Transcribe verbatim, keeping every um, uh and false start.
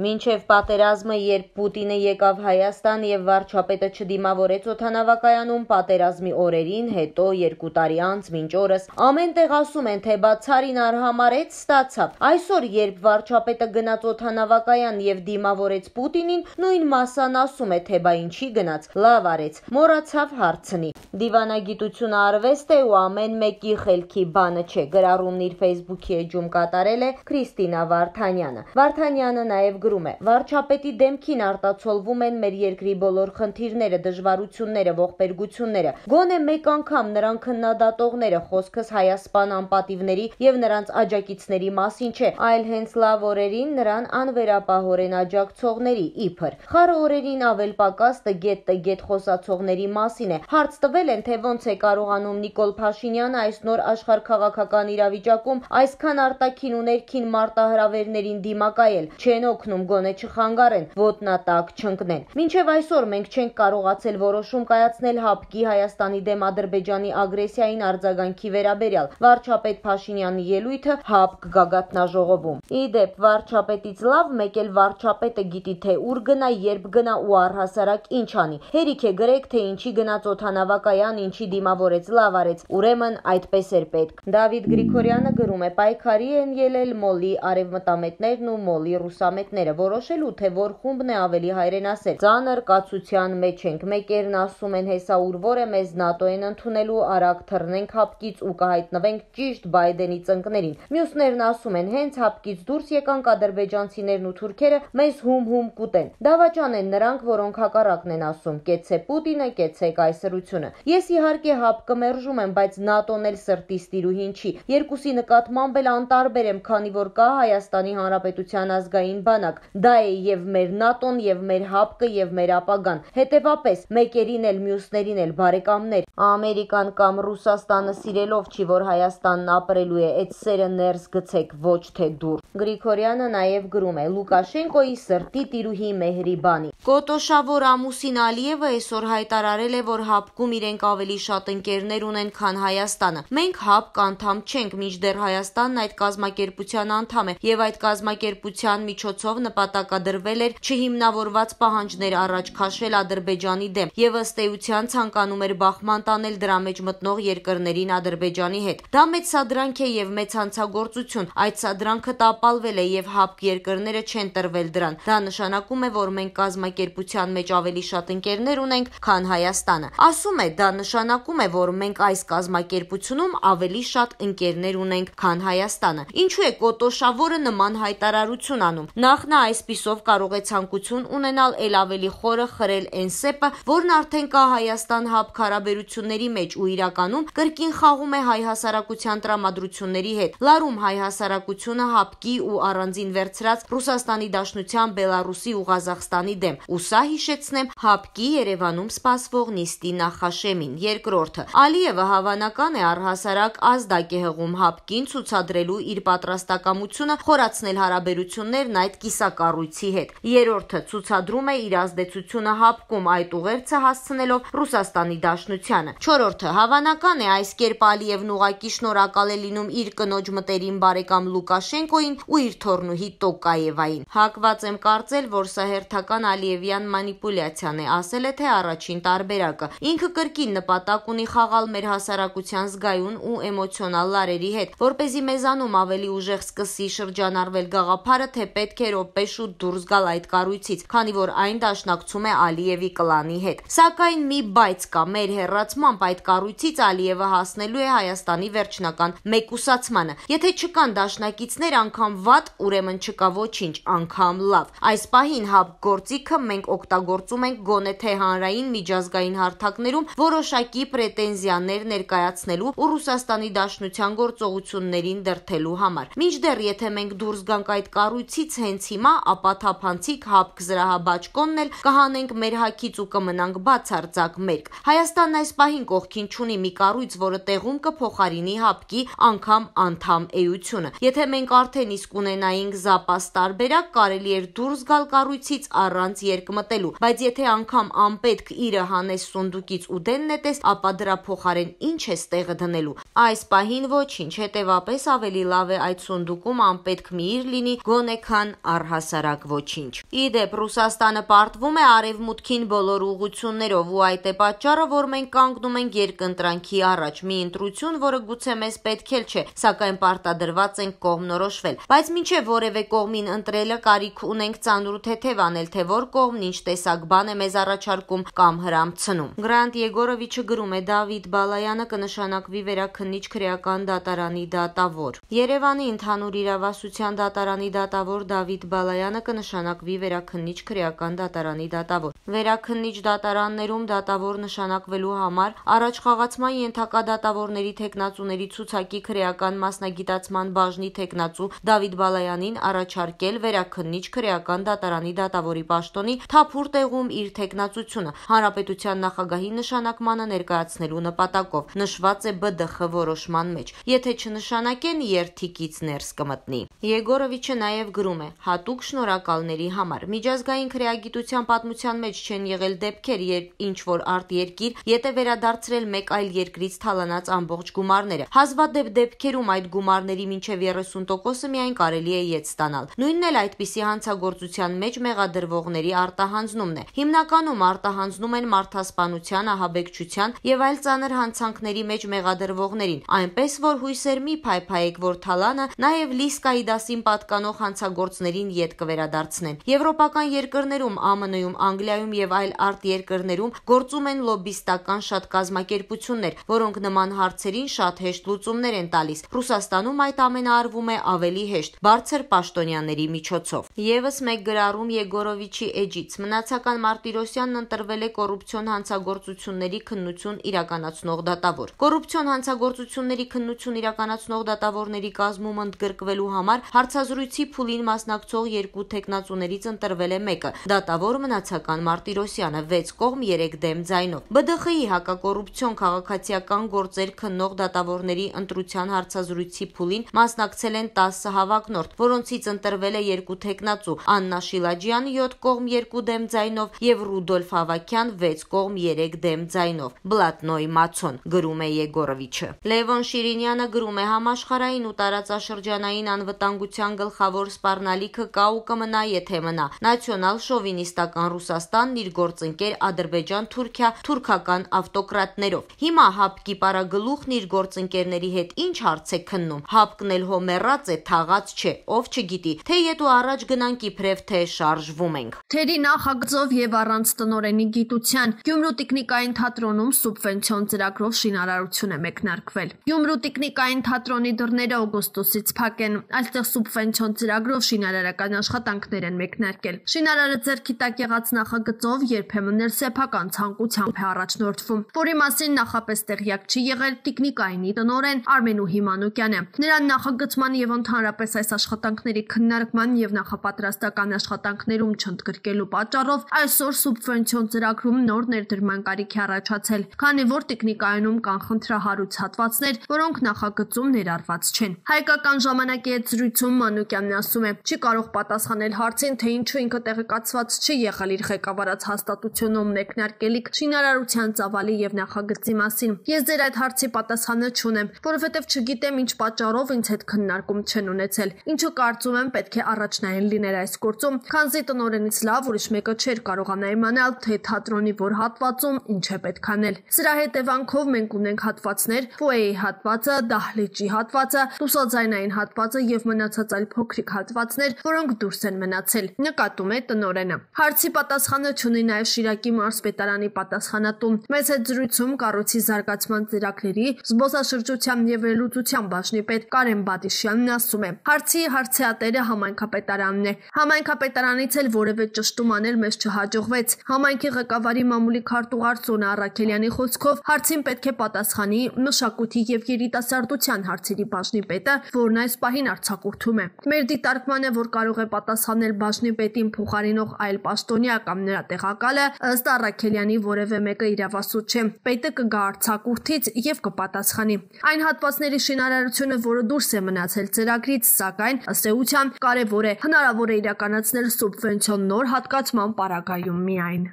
Մինչև պատերազմը, երբ Պուտինը եկավ Հայաստան եւ վարչապետը չդիմավորեց օդանավակայանում պատերազմի օրերին, հետո երկու տարի անց մինչ օրս ամեն տեղ ասում են, թե բա ցարին արհամարեց, ստացավ։ Այսօր, երբ վարչապետը գնաց օդանավակայան եւ դիմավորեց Պուտինին, նույն մասան ասում է, թե բա ինչի գնաց, լավ արեց, մոռացավ հարցնի։ Դիվանագիտությունը արվեստ է ու ամեն մեկի խելքի բանը չէ, գրառումն իր Facebook-ի էջում կատարել է Քրիստինա Վարդանյանը։ Վարդանյանը նաեւ գրում է. վարչապետի դեմքին արտացոլվում են մեր երկրի բոլոր խնդիրները, դժվարությունները, ողբերգությունները։ Գոնե մեկ անգամ նրան քննադատողները խոսքս հայասպան անպատիվների եւ նրանց աջակիցների մասին չէ, այլ հենց լավ օրերին նրան անվերապահորեն աջակցողների իբր։ Խառը օրերին ավել պակաս տգետ-տգետ խոսացողների մասին է։ Հարց տվել են, թե ոնց է կարողանում Նիկոլ Փաշինյանը այս նոր աշխարհքաղաքական իրավիճակում այսքան արտաքին ու ներքին մարտահրավերներին դիմակայել, չեն օգնում գոնե չխանգարեն, ոտնատակ չընկնեն։ Մինչև այսօր մենք չենք կարողացել որոշում կայացնել ՀԱՊԿ-ի Հայաստանի դեմ Ադրբեջանի ագրեսիային արձագանքի վերաբերյալ։ Վարչապետ Փաշինյանի ելույթը ՀԱՊԿ գագաթնաժողովում։ Ի դեպ, վարչապետից լավ մեկ էլ վարչապետը գիտի, թե ուր գնա, երբ գնա ու առհասարակ ինչ անի։ Հերիք է գրեք, թե ինչի գնաց օդանավակայան, ինչի դիմավորեց, լավ արեց, ուրեմն այդպես էր պետք։ Դավիթ Գրիգորյանը գրում է. պայքարի են ելել մոլի արևմտամետներն ու մոլի ռուսամետները, որոշելու, թե որ խումբն է ավելի հայրենասեր։ Ծանր կացության մեջ ենք։ Մեկերն ասում են հեսա ուր որ է մեզ ՆԱՏՕ են ընդունելու, արագ թռնենք ՀԱՊԿ-ից ու կհայտնվենք ճիշտ Բայդենի ծնկներին։ Մյուսներն ասում են հենց ՀԱՊԿ-ից դուրս եկանք ադրբեջանցիներն ու թուրքերը մեզ հում-հում կուտեն։ Դավաճան են նրանք, որոնք հակառակն են ասում. կեցե Պուտինը, կեցե կայսրությունը։ Ես իհարկե ՀԱՊԿ մերժում եմ, բայց ՆԱՏՕ-ն էլ սրտիս տիրուհին չի։ Երկուսի նկատմամբ էլ անտարբեր եմ, քանի որ կա Հայաստանի Հանրապետության ազգային բանակ։ Դա է եւ մեր ՆԱՏՕ-ն, եւ մեր ՀԱՊԿ-ը, եւ մեր ապագան։ Հետեւապես մեկերին էլ մյուսներին էլ բարեկամներ։ Ամերիկան կամ Ռուսաստանը սիրելով չի, որ Հայաստանն ապրելու է, այդ սերը ներս գցեք, ոչ թե դուր։ Գրիգորյանը նաեւ գրում է. Լուկաշենկոյի սրտի տիրուհի Մեհրիբանի։ Կոտոշավոր ամուսին Ալիևը այսօր հայտարարել է, որ ՀԱՊԿ-ում իրենք ավելի շատ ընկերներ ունեն, քան Հայաստանը։ Մենք ՀԱՊԿ անդամ չենք, մինչդեռ Հայաստանն այդ կազմակերպության անդամ է, եւ այդ կազմակերպության միջոցով նպատակադրվել էր չհիմնավորված պահանջներ առաջ քաշել Ադրբեջանի դեմ եւ ըստ էության ցանկանում էր բախման տանել դրա մեջ մտնող երկրներին Ադրբեջանի հետ։ Դա մեծ սադրանք է եւ մեծ հանցագործություն։ Այդ սադրանքը տապալվել է եւ ՀԱՊԿ երկրները չեն տրվել դրան։ Դա նշանակում է, որ մենք կազմակերպության մեջ ավելի շատ ընկերներ ունենք, քան Հայաստանը։ Ասում է, դա նշանակում է, որ մենք այս կազմակերպությունում ավելի շատ ընկերներ ունենք, քան Հայաստանը։ Ինչու է Կոտոշավորը նման հայտարարություն անում։ Նախ նա այսպիսով կարող է ցանկություն ունենալ ել ավելի խորը խրել այն սեպը, որն արդեն կա Հայաստան-ՀԱՊԿ հարաբերությունների մեջ ու իրականում կրկին խաղում է հայ հասարակության տրամադրությունների հետ, լարում հայ հասարակությունը ՀԱՊԿ-ի ու առանձին վերցրած Ռուսաստանի Դաշնության, Բելարուսի ու Ղազախստանի դեմ։ Ու սա հիշեցնեմ ՀԱՊԿ-ի Երևանում սպասվող նիստի նախաշեմին։ Երկրորդը, Ալիևը հավանական է առհասարակ ազդակ է հղում ՀԱՊԿ-ին ցուցադրելու իր պատրաստակամությունը խորացնել հարաբերություններն այդ կիսակառույցի հետ։ Երրորդը, ցուցադրում է իր ազդեցությունը ՀԱՊԿ-ում այդ ուղերձը հասցնելով Ռուսաստանի Դաշնությանը։ Չորրորդը, հավանական է այս կերպ Ալիևն ուղղակի շնորհակալ է լինում իր կնոջ մտերիմ բարեկամ Լուկաշենկոին ու իր թոռնուհի Տոկաևային։ Հակված եմ կարծել, որ սա հերթական Ալիևյան մանիպուլյացիան է, ասել է թե առաջին տարբերակը։ Ինքը կրկին նպատակ ունի խաղալ մեր հասարակության զգայուն ու էմոցիոնալ լարերի հետ, որպեսզի մեզանում ավելի ուժեղ սկսի շրջանառվել գաղափարը, թե պետք է րոպե շուտ դուրս գալ այդ կառույցից, քանի որ այն դաշնակցում է Ալիևի կլանի հետ։ Սակայն մի բայց կա, մեր հեռացմամբ այդ կառույցից Ալիևը հասնելու է Հայաստանի վերջնական մեկուսացմանը։ Եթե չկան դաշնակիցներ, անգամ վատ, ուրեմն չկա ոչինչ, անգամ լավ։ Այս պահին ՀԱՊԿ գործիքը մենք օգտագործում ենք գոնե թե հանրային միջազգային հարթակներում որոշակի պրետենզիաներ ներկայացնելու ու Ռուսաստանի Դաշնության գործողություններին դրդելու համար։ Մինչդեռ եթե մենք դուրս գանք այդ կառույցից հենց հիմա, ապա թափանցիկ ՀԱՊԿ զրահաբաճկոնն էլ կհանենք մեր հագից ու կմնանք բացարձակ մերկ։ Հայաստանն այս պահին կողքին չունի մի կառույց, որը տեղում կփոխարինի ՀԱՊԿ-ի անգամ անդամ էությունը։ Եթե մենք արդեն իսկ ունենայինք զապաս տարբերակ, կարելի էր դուրս գալ կառույցից առանց երկմտելու, բայց եթե անգամ անպետք իրը հանես սունդուկից ու դեն նետես, ապա դրա փոխարեն ինչ ես տեղը դնելու։ Այս պահին ոչինչ, հետևապես ավելի լավ է այդ սունդուկում անպետք մի իր լինի, գոնե քան առանց առհասարակ ոչինչ։ Իդեպ Ռուսաստանը պարտվում է արևմուտքին բոլոր ուղղություններով ու այդ է պատճառը, որ մենք կանգնում ենք երկընտրանքի առաջ, մի ընտրություն, որը գուցե մեզ պետք էլ չէ, սակայն պարտադրված ենք կողմնորոշվել, բայց մինչև որևէ կողմին ընտրելը կարիք ունենք ծանր ու թեթև անել, թե որ կողմն ինչ տեսակ բան է մեզ առաջարկում կամ հրամցնում։ Գրանտ Եգորովիչը գրում է. Դավիթ Բալայանը կնշանակվի վերաքննիչ քրեական դատարանի դատավոր։ Երևանի ընդհանուր իրավասության դատարանի դատավոր Դավիթ Բալայանը կնշանակվի վերաքննիչ քրեական դատարանի դատավոր։ Վերաքննիչ դատարաններում դատավոր նշանակվելու համար առաջխաղացման ենթակա դատավորների թեկնածուների ցուցակի քրեական մասնագիտացման բաժնի թեկնածու Դավիթ Բալայանին առաջարկել վերաքննիչ քրեական դատարանի դատավորի պաշտոնի թափուր տեղում իր թեկնածությունը հանրապետության նախագահի նշանակմանը ներկայացնելու նպատակով, նշված է Бэ Դը Խ որոշման մեջ։ Եթե չնշանակեն, երթիկից ներս կմտնի։ Եգորովիչը նաև գրում է. հատուկ շնորհակալների համար։ Միջազգային քրեագիտության պատմության մեջ չեն եղել դեպքեր, երբ ինչ որ արտերկիր ետե վերադարձրել մեկ այլ երկրից թալանած ամբողջ գումարները։ Հազվադեպ դեպքերում այդ գումարների մինչև երեսուն տոկոսը միայն կարելի է ետ ստանալ։ Նույնն էլ այդպիսի հանցագործության մեջ մեղադրվողների արտահանձնումն է։ Հիմնականում արտահանձնում են մարդասպանության, ահաբեկչության եւ այլ ծանր հանցանքների մեջ մեղադրվողներին, այնպես որ հույսեր մի փայփայեք, որ թալանը նաև Լիսկայի դասին պատկանող հանցագործներին ետ կվերադարձնեն։ Եվրոպական երկրներում, Ա Մ Ն-ում, Անգլիայում եւ այլ արտերկրներում գործում են լոբիստական շատ կազմակերպություններ, որոնք նման հարցերին շատ հեշտ լուծումներ են տալիս։ Ռուսաստանում այդ ամենը արվում է ավելի հեշտ, բարձր պաշտոնյաների միջոցով։ Եվս մեկ գրառում Եգորովիչի էջից. Մնացական Մարտիրոսյանն ընտրվել է կոռուպցիոն հանցագործությունների քննություն իրականացնող դատավոր։ Կոռուպցիոն հանցագործությունների քննություն իրականացնող դատավորների կազմում ընդգրկվելու համար հարցազրույցի փուլին մասնակցող երկու թեկնածուներից ընտրվել է մեկը՝ դատավոր Մնացական Մարտիրոսյանը, վեց կողմ երեք դեմ ձայնով։ Бэ Դը Խ-ի հակակոռուպցիոն քաղաքացիական գործեր քննող դատավորների ընտրության հարցազրույցի փուլին մասնակցել են տասը հավակնորդ, որոնցից ընտրվել է երկու թեկնածու՝ Աննա Շիլաջյան յոթ կողմ երկու դեմ ձայնով եւ Ռուդոլֆ Ավակյան վեց կողմ երեք դեմ ձայնով։ Բլատնոյ Մացոն, գրում է Եգորովիչը։ Լևոն Շիրինյանը գրում է. համաշխարհային ու տարածաշրջանային անվտանգության գլխավոր սպառնալիքը կա ու կմնա, եթե մնա նացիոնալ շովինիստական Ռուսաստանն իր գործընկեր Ադրբեջան, Թուրքիա, թուրքական ավտոկրատներով։ Հիմա հապկի պարագլուխն իր գործընկերների հետ ինչ հարց է քննում։ Հապկն էլ հո մեռած է, թաղած չէ, ով չգիտի, թե ետու առաջ գնանք իբրև թե շարժվում ենք։ Թերի նախագծով եւ առանց տնօրենի գիտության Գյումրու տեխնիկային թատրոնում սուբվենցիոն ծրագրով շինարարություն է մեկնարկվել։ Գյումրու տեխնիկային թատրոնի դռները օգոստոսից փակ են, այստեղ սուբվենցիոն ծրագրով շինարարական աշխատանքներ են մեկնարկել։ Շինարարը ձեռքի տակ եղած նախագծով երբեմն էլ սեփական ցանկությամբ է առաջնորդվում, որի մասին նախապես տեղյակ չի եղել տեխնիկայինի տնօրեն Արմենուհի Մանուկյանը։ Նրան նախագծման եւ ընդհանրապես այս աշխատանքների քննարկման եւ նախապատրաստական աշխատանքներում չընդգրկելու պատճառով այսօր սուբվենցիոն ծրագրում նոր ներդրման կարիք է առաջացել, քանի որ տեխնիկայինում կան խնդրահարույց հատվածներ, որոնք նախագծում ներառված չեն։ Հայկական ժամանակի հետ զրույցում Մանուկյանն ասում է, չի կարող պատասխանել հարցին, թե ինչու ինքը տեղեկացված չի եղել իր ղեկավարած հաստատությունում մեկնարկելիք շինարարության ծավալի եւ նախագծի մասին։ Ես ձեր այդ հարցի պատասխանը չունեմ, որովհետեւ չգիտեմ ինչ պատճառով ինձ հետ քննարկում չեն ունեցել։ Ինչու կարծում եմ պետք է առաջնային լիներ այս գործում, քանզի տնօրենից լավ ուրիշ մեկը չէր կարողանա իմանալ, թե թատրոնի որ հատվածում ինչ է պետք անել։ Սրա հետևանքով մենք ունենք հատվածներ՝ ֆոյեի հատվածը, դահլիճի հատվածը, լուսաձայնային հատվածը եւ մնացած այլ փոքրիկ հատվածներ, որոնք դուրս են մնացել, նկատում է տնօրենը։ Հարցի պատասխանը չունի նաեւ Շիրակի մարզպետարանի պատասխանատուն։ Մեծ հետ զրույցում կառույցի զարգացման ծրագրերի, զբոսաշրջության եւ վերլուծության բաժնի պետ Կարեն Բադիշյանն ասում է. հարցի հարցեատերը համայնքապետարանն է։ Համայնքապետարանից էլ որևէ ճշտում անել մեզ չհաջողվեց։ Համայնքի ղեկավարի մամուլի քարտուղար Սոնա Առաքելյանի խոսքով հարցին պետք է պատասխանի մշակույթի եւ երիտասարդության հարցերի բաժնի պետը, որն այս պահին արձակուրդում է։ Մեր դիտարկմանը, որ կարող է պատասխանել բաժնի պետին փոխարինող այլ պաշտոնյա կամ նրա տեղակալը, ըստ Առաքելյանի որևէ մեկը իրավասու չէ։ Պետը կգա արձակուրդից եւ կպատասխանի։ Այն հատվածների շինարարությունը, որը դուրս է մնացել ծրագրից, սակայն ըստ էության կարևոր է, հնարավոր է իրականացնել սուբվենցիոն նոր հատկացման պարագայում միայն։